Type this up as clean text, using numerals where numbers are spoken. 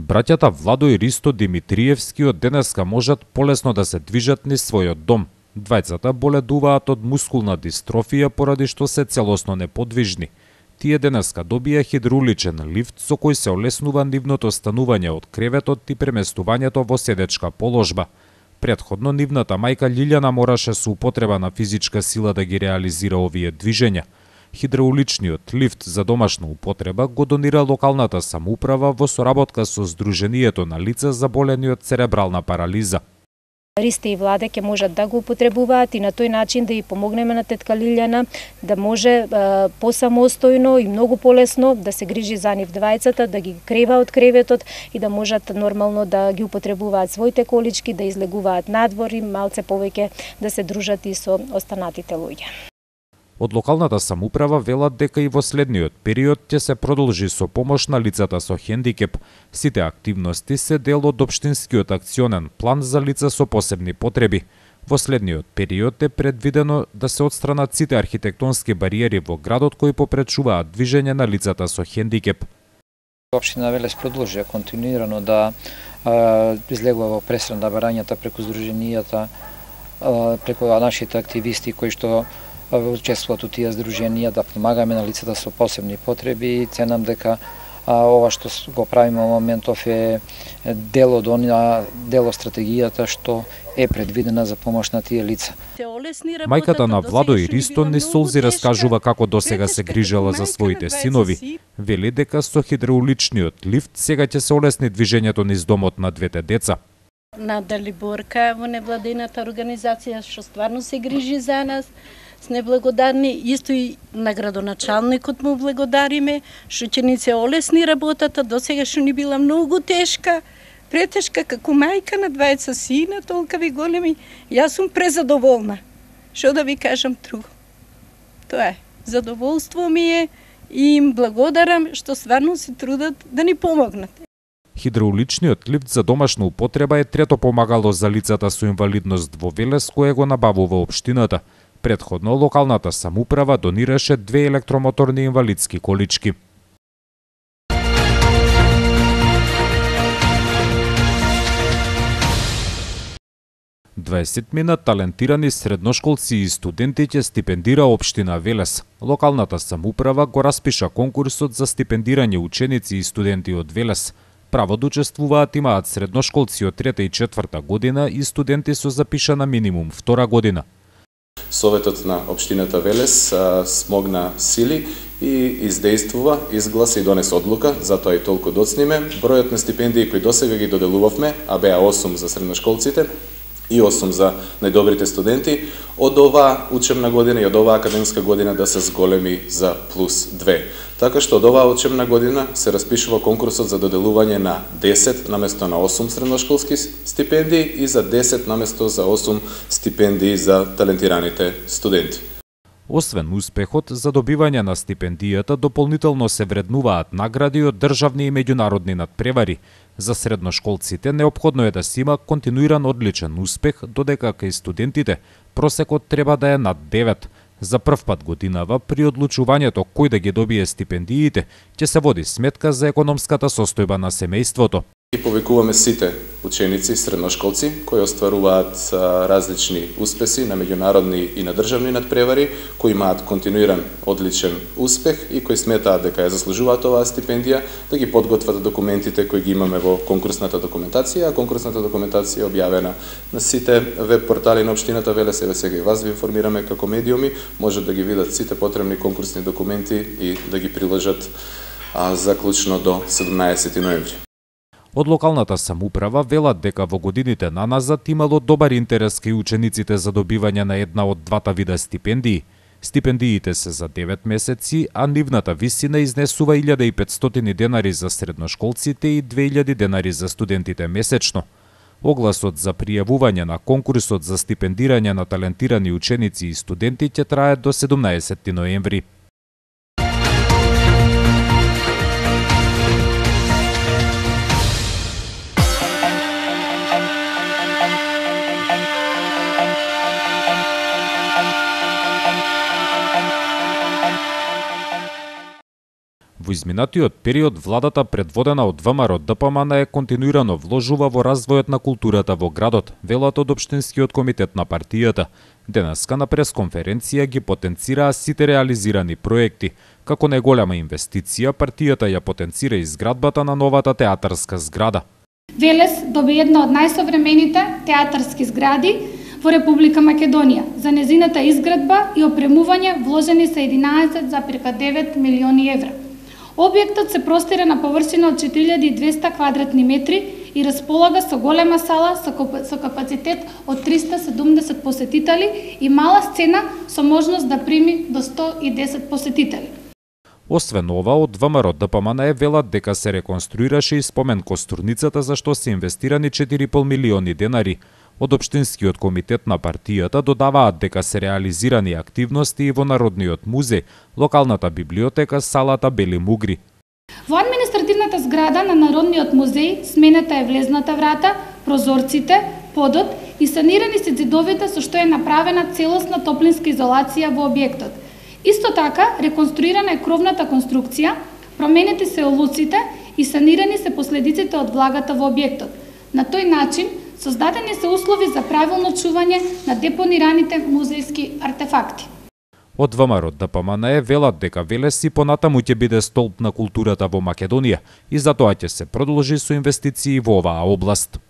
Браќата Владо и Ристо Димитриевски од денеска можат полесно да се движат низ својот дом. Двајцата боледуваат од мускулна дистрофија поради што се целосно неподвижни. Тие денеска добија хидрауличен лифт со кој се олеснува нивното станување од креветот и преместувањето во седечка положба. Претходно нивната мајка Лилјана мораше со употреба на физичка сила да ги реализира овие движења. Хидрауличниот лифт за домашна употреба го донира локалната самоуправа во соработка со Сдруженијето на лица заболени од церебрална парализа. Ристе и Владе ќе можат да го употребуваат и на тој начин да ја помогнеме на тетка Лилјана да може посамостојно и многу полесно да се грижи за нив двајцата, да ги крева од креветот и да можат нормално да ги употребуваат своите колички, да излегуваат надвор и малце повеќе да се дружат и со останатите луѓе. Од локалната самоуправа велат дека и во следниот период ќе се продолжи со помош на лицата со хендикеп. Сите активности се дел од општинскиот акционен план за лица со посебни потреби. Во следниот период е предвидено да се отстранат сите архитектонски бариери во градот кои попречуваат движење на лицата со хендикеп. Општина Велес продолжи континуирано да излегува во пресран на барањата преку здруженијата, преку нашите активисти кои што учествуваат у тие здруженија да помагаме на лицата со посебни потреби и ценам дека ова што го правиме во моментов е дел од дел од стратегијата што е предвидена за помош на тие лица. Мајката на Владо и Ристо не солзи раскажува како досега се грижела за своите синови. Вели дека со хидрауличниот лифт сега ќе се олесни движењето низ домот на двете деца. На Далиборка во невладината организација што стварно се грижи за нас. Сме благодарни, исто и на градоначалникот му благодариме, што ќе ни се олесни работата, досега што ни била многу тешка, претешка како мајка на двајца сина, толкави големи. Јас сум презадоволна. Што да ви кажам друго? Тоа е. Задоволство ми е и им благодарам што стварно се трудат да ни помогнат. Хидрауличниот лифт за домашна употреба е трето помагало за лицата со инвалидност во Велес кое го набавува општината. Претходно локалната самоуправа донираше 2 електромоторни инвалидски колички. Дваесетмина талентирани средношколци и студенти ќе стипендира општина Велес. Локалната самоуправа го распиша конкурсот за стипендирање ученици и студенти од Велес. Право да учествуваат имаат средношколци од 3 и 4 година и студенти со запишана минимум 2 година. Советот на општината Велес смогна сили и издействува, изгласа и донес одлука, затоа и толку доцниме. Бројот на стипендии кои досега ги доделувавме, а беа 8 за средношколците и 8 за најдобрите студенти, од оваа учебна година и од оваа академска година да се зголеми за плюс 2. Така што од оваа учебна година се распишува конкурсот за доделување на 10 наместо на 8 средношколски стипендии и за 10 наместо за 8 стипендии за талентираните студенти. Освен успехот за добивање на стипендијата, дополнително се вреднуваат награди од државни и меѓународни надпревари. За средношколците неопходно е да се има континуиран одличен успех, додека кај студентите просекот треба да е над 9. За прв пат годинава при одлучувањето кој да ги добие стипендиите, ќе се води сметка за економската состојба на семејството. И повикуваме сите ученици, средношколци, кои остваруваат различни успеси на меѓународни и на државни надпревари, кои имаат континуиран одличен успех и кои сметаат дека ја заслужуваат оваа стипендија, да ги подготват документите кои ги имаме во конкурсната документација, а конкурсната документација е објавена на сите веб портали на општината Велес. Еве сега и вас ви информираме како медиуми, можат да ги видат сите потребни конкурсни документи и да ги приложат заклучно до 17 ноември. Од локалната самоуправа велат дека во годините наназад имало добар интерес кај учениците за добивање на една од двата вида стипендии. Стипендиите се за 9 месеци, а нивната висина изнесува 1500 денари за средношколците и 2000 денари за студентите месечно. Огласот за пријавување на конкурсот за стипендирање на талентирани ученици и студенти ќе трае до 17 ноември. Во изминатиот период владата предводена од ВМРО ДПМН континуирано вложува во развојот на културата во градот, велат од општинскиот комитет на партијата. Денеска на пресконференција ги потенцираа сите реализирани проекти. Како најголема инвестиција, партијата ја потенцира изградбата на новата театарска зграда. Велес доби една од најсовремените театарски згради во Република Македонија. За незината изградба и опремување вложени се 11,9 милиони евра. Објектот се простира на површина од 4200 квадратни метри и располага со голема сала со капацитет од 370 посетители и мала сцена со можност да прими до 110 посетители. Освен ова, од ВМРО ДПМН велат дека се реконструираше и спомен костурницата за што се инвестирани 4,5 милиони денари. Од општинскиот комитет на партијата додаваат дека се реализирани активности и во Народниот музеј, локалната библиотека, салата Бели Мугри. Во административната зграда на Народниот музеј сменета е влезната врата, прозорците, подот и санирани се ѕидовите со што е направена целосна топлинска изолација во објектот. Исто така, реконструирана е кровната конструкција, променети се олуците и санирани се последиците од влагата во објектот. На тој начин, создадени се услови за правилно чување на депонираните музејски артефакти. Од ВМРО ДПМН велат дека Велес и понатаму ќе биде столб на културата во Македонија и затоа ќе се продолжи со инвестиции во оваа област.